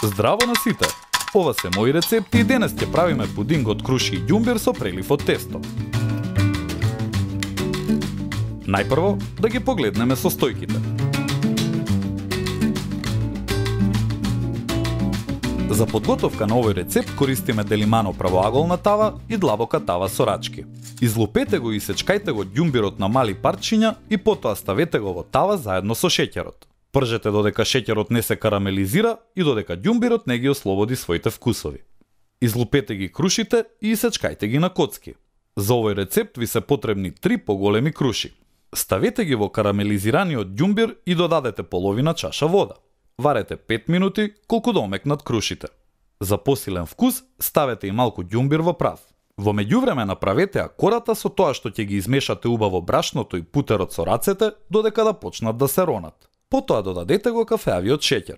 Здраво на сите! Ова се мои рецепти и денес ќе правиме пудинг од круши и ѓумбир со прелив од тесто. Најпрво да ги погледнеме состојките. За подготовка на овој рецепт користиме делимано правоаголна тава и длабока тава со рачки. Излупете го и сечкајте го ѓумбирот на мали парчиња и потоа ставете го во тава заедно со шеќерот. Пржете додека шеќерот не се карамелизира и додека ѓумбирот не ги ослободи своите вкусови. Излупете ги крушите и исечкајте ги на коцки. За овој рецепт ви се потребни 3 поголеми круши. Ставете ги во карамелизираниот ѓумбир и додадете половина чаша вода. Варете 5 минути колку да омекнат крушите. За посилен вкус ставете и малку ѓумбир во прав. Во меѓувреме направете акората со тоа што ќе ги измешате убаво брашното и путерот со рацете додека да почнат да се ронат. Потоа додадете го кафеавиот шеќер.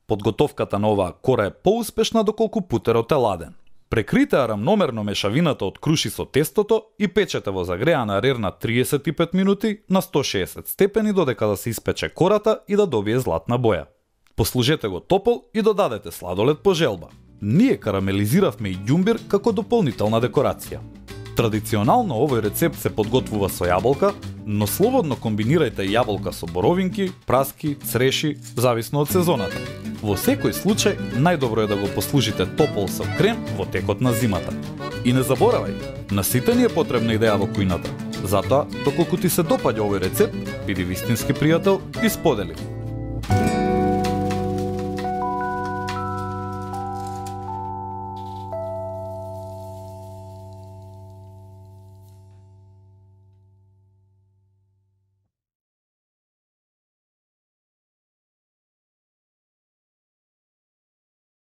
Подготовката на оваа кора е поуспешна доколку путерот е ладен. Прекрите рамномерно мешавината од круши со тестото и печете во загреана рерна 35 минути на 160 степени додека да се испече кората и да добие златна боја. Послужете го топол и додадете сладолед по желба. Ние карамелизиравме и ѓумбир како дополнителна декорација. Традиционално овој рецепт се подготвува со јаболка, но слободно комбинирајте јаболка со боровинки, праски, цреши, зависно од сезоната. Во секој случај, најдобро е да го послужите топол со крем во текот на зимата. И не заборавај, на сите ни е потребна идеја во кујната. Затоа, доколку ти се допаѓа овој рецепт, биди вистински пријател и сподели.